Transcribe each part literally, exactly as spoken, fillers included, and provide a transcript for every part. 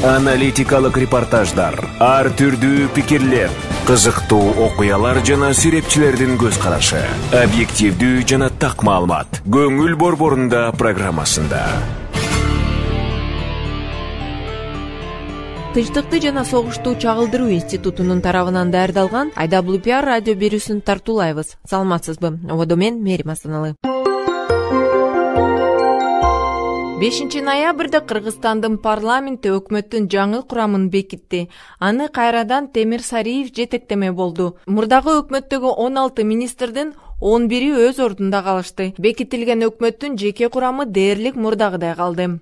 Аналитикалык репортаждар, ар түрдүү пикирлер, кызыктуу окуялар жана сүрөтчүлөрдүн көз карашы, объективдүү жана так маалымат. Көңүл борборунда программасында. Тынчтыкты жана согушту чагылдыруу институтунун тарабынан даярдалган ай дабл ю пи ар радио берүүсүн тартуулайбыз. Саламатсызбы? Ободо мен Мерим Асаналы. бешинчи ноябрда Кыргызстандын парламенти өкмөттүн жаңы курамын бекитти. Аны кайрадан Темир Сариев жетектеме болду. Мурдагы өкмөттөгү он алты министрдин он бири өз ордунда калышты. Бекитилген өкмөттүн жеке курамы дээрлик мурдагыдай калды.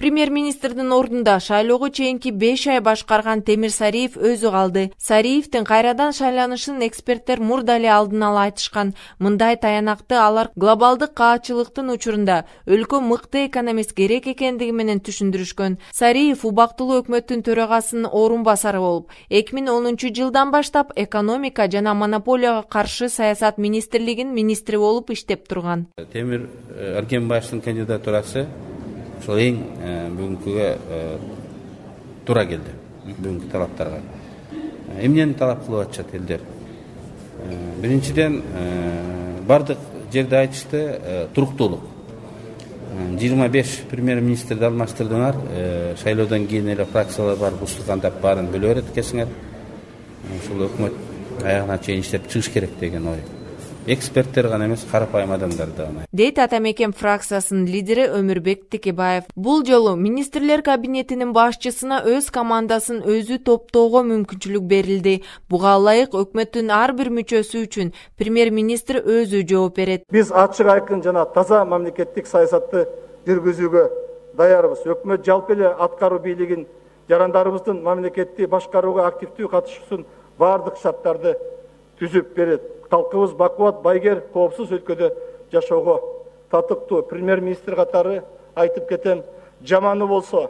Премьер-министрдин ордунда шайлоого чейинки беш ай башкарган Темир Сариев өзү калды. Сариевдин кайрадан шайланышын эксперттер мурда эле алдын ала айтышкан. Мындай таянакты алар глобалдык каачылыктын учурунда өлкө мыкты экономист керек экендиги менен түшүндүрүшкөн. Сариев убактылуу өкмөттүн төрагасынын орун басары болуп, эки миң онунчу жылдан баштап экономика жана монополияга каршы саясат министрлигинин министри болуп иштеп турган. Темир Аргенбаевдин кандидатурасы ошол эң бүгүнкүгө туура келди, бүгүнкү талаптарга. Эмнени талап кылып атышат элдер? Биринчиден, бардык жерде айтышты туруктуулук. жыйырма беш премьер-министрди алмаштырдыңар, шайлоодон кийин эле фракциялар бар, устукандап баарын бөлө берет экенсиңер. Ушул өкмөт аягына чейин иштеп чыгыш керек деген ой. Эксперттер гана эмес, карапайым адамдар да гана. Дейт Ата Мекен фракциясынын лидери Өмүрбек Текебаев. Бул жолу министрлер кабинетинин башчысына өз командасын өзү топтоого мүмкүнчүлүк берилди. Буга ылайык өкмөттүн ар бир мүчөсү үчүн премьер-министр өзү жооп берет. Биз ачык айкын жана таза мамлекеттик саясатты жүргүзүүгө даярбыз. Өкмөт жалпы эле аткаруу бийлигин жарандарыбыздын мамлекетти башкарууга активдүү катышуусун бардык шарттарды түзүп берет. Халкыбыз бакубат, байгер, коопсуз өлкөдө жашоого татыктуу. Премьер-министр катары айтып кетем, жаманы болсо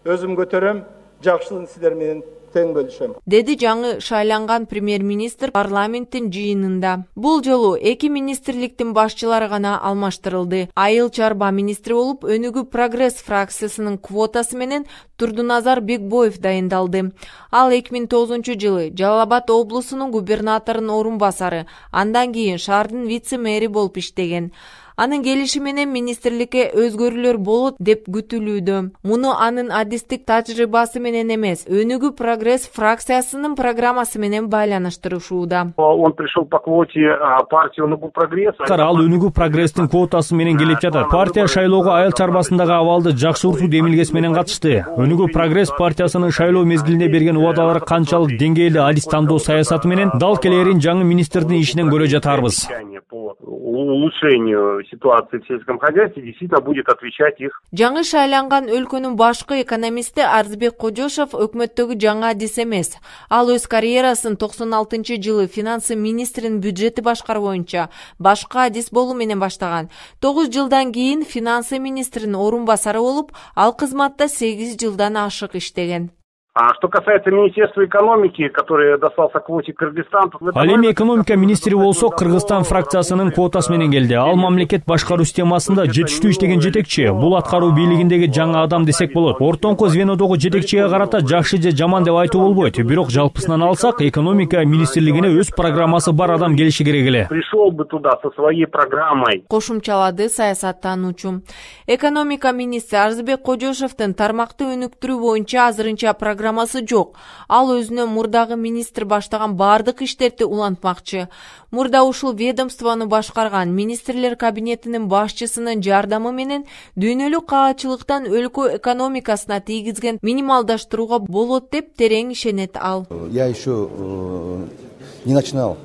өзүм көтөрөм, жакшысын сиздер менен тең бөлүшөм, деди жаңы шайланган премьер-министр парламенттин жыйынында. Бул жолу эки министрликтин башчылары гана алмаштырылды. Айыл чарба министри болуп Өнүгүү прогресс фракциясынын квотасы менен Турдуназар Бекбоев дайындалды. Ал эки миң тогузунчу жылы Жалал Абад облусунун губернаторунун орун басары, андан кийин шаардын вице-мэри болуп иштеген. Анын келиши менен министрликке өзгөрүүлөр болот деп күтүлүүдө. Муну анын адистик тажрыйбасы менен эмес, Өнүгүү прогресс фракциясынын программасы менен байланыштырышууда. Он пришел по квоте партии Өнүгүү прогресс. Ал Өнүгүү прогресстин квотасы менен келип жатат. Партия шайлоого айыл чарбасындагы абалды жакшыртуу демилгеси менен катышты. Өнүгүү прогресс партиясынын шайлоо мезгилинде берген убадалары канчалык деңгээлде адис тандоо саясаты менен дал келерин жаңы министрдин ишинен көрө жатарбыз. Улучшению ситуации в сельском хозяйстве действительно будет отвечать их. Жаңы шайланган өлкөнүн башкы экономисти Арзбек Кожошов өкмөттөгү жаңы адис эмес. Ал өз карьерасын токсон алтынчы жылы финансы министринин бюджети башкаруу боюнча башка адис болуу менен баштаган. тогуз жылдан кийин финансы министринин орун басары болуп, ал кызматта сегиз жылдан ашык иштеген. А что касается Министерства экономики, которое достался квоте Кыргызстан, ал эми экономика министри болсо Кыргызстан фракциясынын квотасы менен келди. Ал мамлекет башкаруу системасында жетиштүү иштеген жетекчи. Бул аткаруу бийлигиндеги жаңы адам десек болот. Ортоңку звенодогу жетекчиге карата жакшы же жаман деп айтуу болбойт. Бирок жалпысынан алсак, экономика министрлигине өз программасы бар адам келиши керек эле. Пришел бы туда со своей программой. Кошумчалады саясаттануучу. Экономика министри Арзбек Кожошовдун тармакты өнүктүрүү боюнча азырынча программасы жок. Ал өзүнө мурдагы министр баштаган бардык иштерди улантмакчы. Мурда ушул ведомствону башкарган министрлер кабинетинин башчысынын жардамы менен дүйнөлүк каачылыктан өлкө экономикасына тийгизген минималдаштырууга болот деп терең ишенет ал. Я еще не начинал.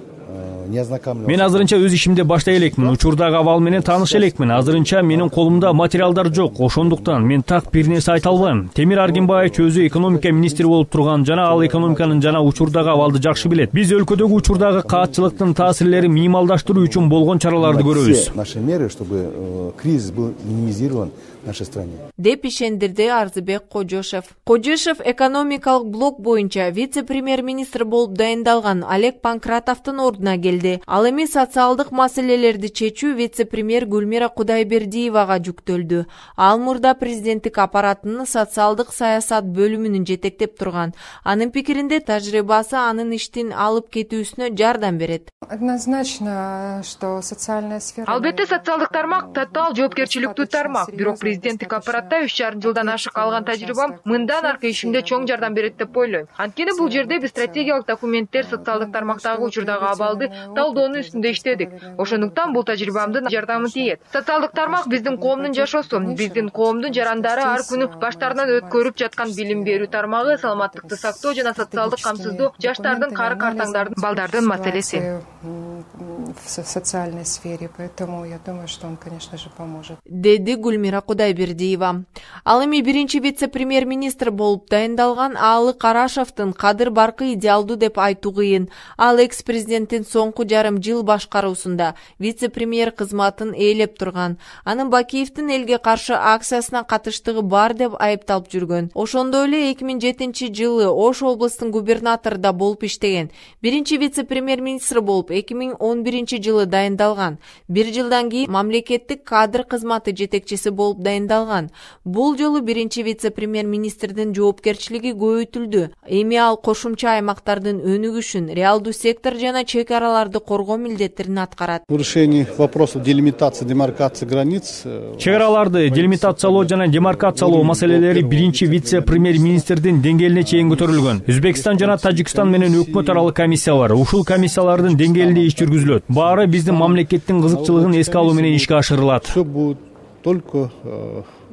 Мен азырынча өз ишимди баштай элекмин, учурдагы абал менен тааныша элекмин. Азырынча менин колумда материалдар жок, ошондуктан мен так бир нерсе айта албайм. Темир Аргенбаев өзү экономика министри болуп турган жана ал экономиканын жана учурдагы абалды жакшы билет. Биз өлкөдөгү учурдагы каатчылыктын таасирлерин минималдаштыруу үчүн болгон чараларды көрөбүз. Наши меры, чтобы кризис был минимизирован, нашей стране. деп ишендирди Арзыбек Кожошев. Кожошев экономикалык блок боюнча вице-премьер-министр болуп дайындалган Олег Панкратовдун ордуна келди. Ал эми социалдык маселелерди чечүү вице-премьер Гүлмира Кудайбердиевага жүктөлдү. Ал мурда президенттик аппаратынын социалдык саясат бөлүмүнүн жетектеп турган. Анын пикиринде тажрыйбасы анын иштин алып кетүүсүнө жардам берет. Однозначно, что социальная сфера... Албетте социалдык тармак татаал жоопкерчиликтүү тармак. Бирок президенттик аппаратта үч жарым жылдан ашык алган тажрыйбам мындан аркы ишимде чоң жардам берет деп ойлойм. Анткени бул жерде биз стратегиялык документтер, социалдык тармактагы учурдагы абалды талдоонун үстүндө иштедик. Ошондуктан бул тажрыйбамдын жардамы тиет. Социалдык тармак биздин коомдун жашоосу, биздин коомдун жарандары ар күнү баштарынан өткөрүп жаткан билим берүү тармагы, саламаттыкты сактоо жана социалдык камсыздоо, жаштардын, кары картаңдардын, балдардын маселеси. В социальной сфере, поэтому я думаю, что он, конечно же, поможет. Деди Гүлмира Кудайбердиева. Ал эми биринчи вице-премьер-министр болуп дайындалган Аалы Карашевдин кадыр баркы идеалдуу деп айтуу кыйын. Ал экс-президенттин соңку жарым жыл башкаруусунда вице-премьер кызматын ээлеп турган. Анын Бакиевдин элге каршы акциясына катыштыгы бар деп айыпталып жүргөн. Ошондой эле эки миң жетинчи жылы Ош областын губернатору да болуп иштеген. Биринчи вице-премьер-министр болуп эки миң он биринчи жылы дайындалган. Бир жылдан кийин мамлекеттик кадр кызматы жетекчиси болуп дайындалган. Бул жолу биринчи вице-премьер-министрдин жоопкерчилиги көбөйтүлдү. Эми ал кошумча аймактардын өнүгүшүн, реалдуу сектор жана чек араларды коргоо милдеттерин аткарат. В решении вопросов делимитации, демаркации границ. Чек араларды делимитациялоо жана демаркациялоо маселелери биринчи вице-премьер-министрдин деңгээлине чейин көтөрүлгөн. Өзбекстан жана Тажикстан менен өкмөт аралык комиссиялар, ушул комиссиялардын деңгээлинде иш жүргүзүлөт. Баары биздин мамлекеттин кызыкчылыгын эске алуу менен ишке ашырылат. Все будет только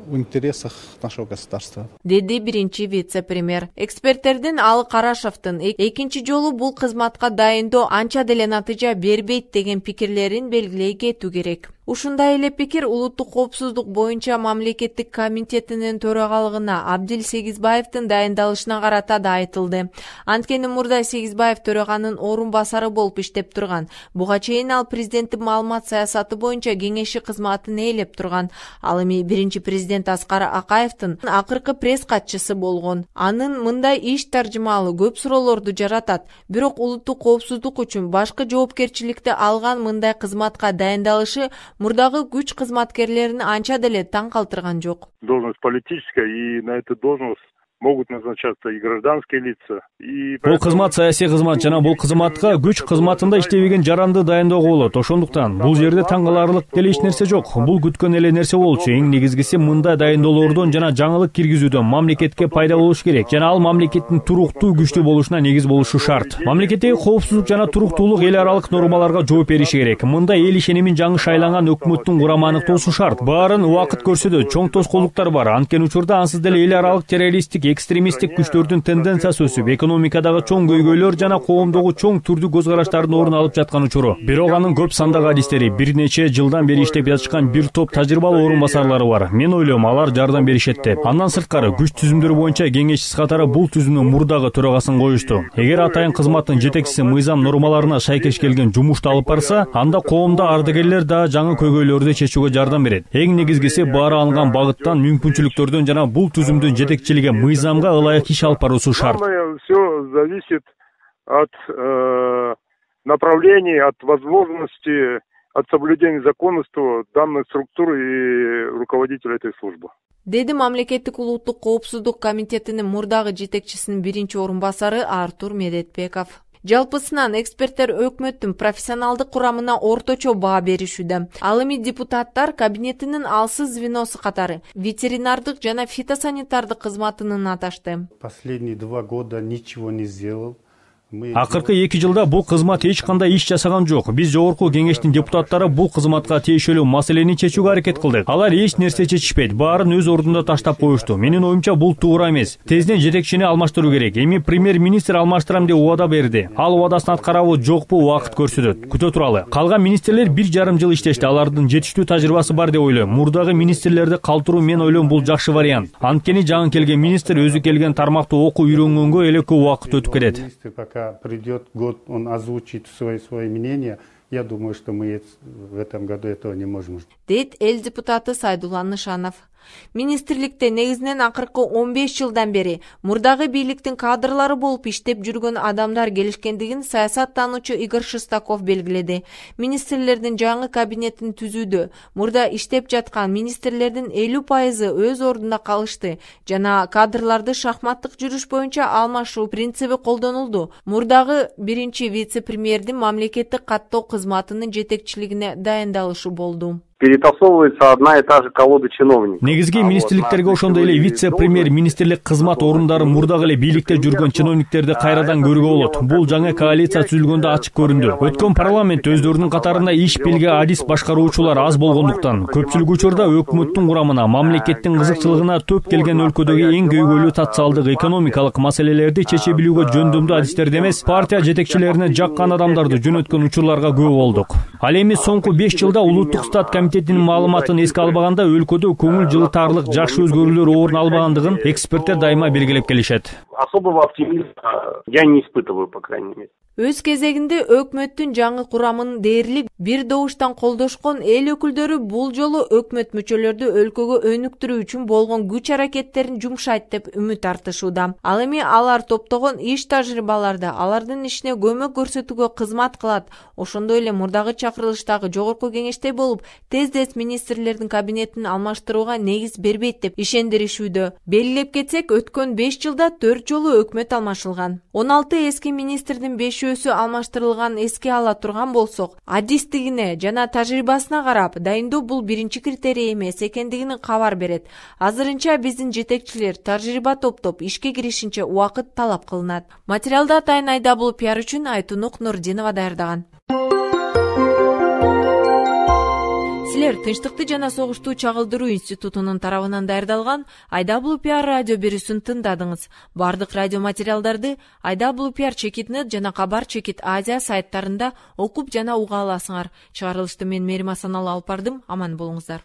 в интересах нашего государства. Деди биринчи вице-премьер. Эксперттердин Аалы Карашевдин экинчи жолу бул кызматка дайындоо анча деле натыйжа бербейт деген пикирлерин белгилей кетүү керек. Ушундай эле пикир улуттук коопсуздук боюнча мамлекеттик комитетинин төрагалыгына Абдил Сегизбаевдин дайындалышына карата да айтылды. Анткени мурда Сегизбаев төраганын орун басары болуп иштеп турган. Буга чейин ал президенттик маалымат саясаты боюнча кеңеши кызматын ээлеп турган. Ал эми биринчи президент Аскар Акаевдин акыркы пресс катчысы болгон. Анын мындай иш таржымалы көп суроолорду жаратат. Бирок улуттук коопсуздук үчүн башкы жоопкерчиликти алган мындай кызматка дайындалышы мурдагы күч кызматкерлерин анча деле таң калтырган жок. Должность политическая, и на эту должность могут назначаться и гражданские лица. Бул кызмат саясий кызмат жана бул кызматка күч кызматында иштебеген жаранды дайындоого болот. Ошондуктан бул жерде таң каларлык деле эч нерсе жок. Бул күткөн эле нерсе болчу. Эң негизгиси мындай дайындоолордон жана жаңылык киргизүүдөн мамлекетке пайда болуш керек. Жана ал мамлекеттин туруктуу күчтүү болушуна негиз болушу шарт. Мамлекеттеги коопсуздук жана туруктуулук эл аралык нормаларга жооп бериши керек. Мындай эл ишенимин жаңы шайланган өкмөттүн курамы аныктоосу шарт. Баарын убакыт көрсөтөт. Чоң тоскоолдуктар бар. Анткени учурда ансыз деле эл аралык террористтик экстремисттик күчтөрдүн тенденциясы өсүп, экономикадагы чоң көйгөйлөр жана коомдогу чоң түрдүү көз караштардын орун алып жаткан учуру. Бирок анын көп сандагы адистери, бир нече жылдан бери иштеп жатышкан бир топ тажрыйбалуу орун басарлары бар. Мен ойлойм, алар жардам беришет деп. Андан сырткары күч түзүмдөрү боюнча кеңешчиси катары бул түзүүнүн мурдагы төрагасын коюшту. Эгер атайын кызматтын жетекчиси мыйзам нормаларына шайкеш келген жумушту алып барса, анда коомдо ардагерлер да жаңы көйгөйлөрдү чечүүгө жардам берет. Эң негизгиси баары алынган багыттан, мүмкүнчүлүктөрдөн жана бул түзүмдүн жетекчилиги мыйзамга ылайык иш алып баруусу шарт. Все зависит от э, направлений, от возможности, от соблюдения законности данной структуры и руководителя этой службы. Деди мамлекеттик улуттук коопсуздук комитетинин мурдагы жетекчисинин биринчи орун басары Артур Медетбеков. Жалпысынан эксперттер өкмөттүн профессионалдык курамына орточо баа беришүүдө. Ал эми депутаттар кабинетинин алсыз звеносу катары ветеринардык жана фитосанитардык кызматынын аташты. Последние два года ничего не сделал. Акыркы эки жылда бул кызмат эч кандай иш жасаган жок. Биз жогорку кеңештин депутаттары бул кызматка тиешелүү маселени чечүүгө аракет кылдык. Алар эч нерсе чечишпейт, баарын өз ордунда таштап коюшту. Менин оюмча бул туура эмес. Тезден жетекчини алмаштыруу керек. Эми премьер-министр алмаштырам деп убада берди. Ал убадасын аткарабы жокпу убакыт көрсөтөт. Күтө туралы. Калган министрлер бир жарым жыл иштешти. Алардын жетиштүү тажрыйбасы бар деп ойлойм. Мурдагы министрлерди калтыруу мен ойлойм бул жакшы вариант. Анткени жаңы келген министр өзү келген тармакты окуу үйрөнгөнгө эле көп убакыт өтүп кетет. Придет год, он озвучит свои, свои мнения. Я думаю, что мы в этом году этого не можем. Дейт эл депутаты Сайдулла Нышанов. Министрликте негизинен акыркы он беш жылдан бери мурдагы бийликтин кадрлары болуп иштеп жүргөн адамдар келишкендигин саясаттануучу Игорь Шестаков белгиледи. Министрлердин жаңы кабинетин түзүүдө мурда иштеп жаткан министрлердин элүү пайызы өз ордунда калышты жана кадрларды шахматтык жүрүш боюнча алмашуу принциби колдонулду. Мурдагы биринчи вице-премьердин мамлекеттик каттоо кызматынын жетекчилигине дайындалышы болду. Перетасовывается одна и та же колода чиновников. Негизги министрликтерге ошондой эле вице-премьер министрлик кызмат ордундары мурдагы эле бийликте жүргөн чиновниктерди кайрадан көрүүгө болот. Бул жаңы коалиция түзүлгөндө ачык көрүндү. Өткөн парламент өздөрүнүн катарында иш белге адис башкаруучулар аз болгондуктан көпчүлүк учурда өкмөттүн курамына мамлекеттин кызыкчылыгына төп келген өлкөдөгү эң көйгөйлүү социалдык экономикалык маселелерди чече билүүгө жөндөмдүү адистерди эмес, партия жетекчилерине жаккан адамдарды жөнөткөн учурларга күбө болдук. Ал эми соңку беш жылда улуттук стат комитетинин маалыматын эске албаганда өлкөдө көңүл жылытарлык жакшы өзгөрүүлөр орун албагандыгын эксперттер дайыма белгилеп келишет. Особого оптимизма я не испытываю, по крайней мере. Өз кезегинде өкмөттүн жаңы курамын дээрлик бир добуштан колдошкон эл өкүлдөрү бул жолу өкмөт мүчөлөрдү өлкөгө өнүктүрүү үчүн болгон күч аракеттерин жумшайт деп үмүт артышууда. Ал эми алар топтогон иш тажрыйбаларды алардын ишине көмөк көрсөтүүгө кызмат кылат. Ошондой эле мурдагы чакырылыштагы жогорку кеңеште болуп, тез-тез министрлердин кабинетин алмаштырууга негиз бербейт деп ишендиришүүдө. Белгилеп кетсек, өткөн беш жылда төрт жолу өкмөт алмашылган. он алты эски министрдин бешөөсү алмаштырылган эске ала турган болсок, адистигине жана тажрыйбасына карап, дайындоо бул биринчи критерий эмес экендигин кабар берет. Азырынча биздин жетекчилер тажрыйба топтоп ишке киришинче убакыт талап кылынат. Материалды атайын Айдабул пиар үчүн Айтунук Нурдинова даярдаган. Силер Тынчтыкты жана согушту чагылдыруу институтунун тарабынан даярдалган Айдабул пиар радио берүүсүн тыңдадыңыз. Бардык радио материалдарды Айдабул пиар чекит нет жана Кабар чекит Азия сайттарында окуп жана уга аласыңар. Чыгарылышты мен Мерим Асаналы алып бардым. Аман болуңуздар.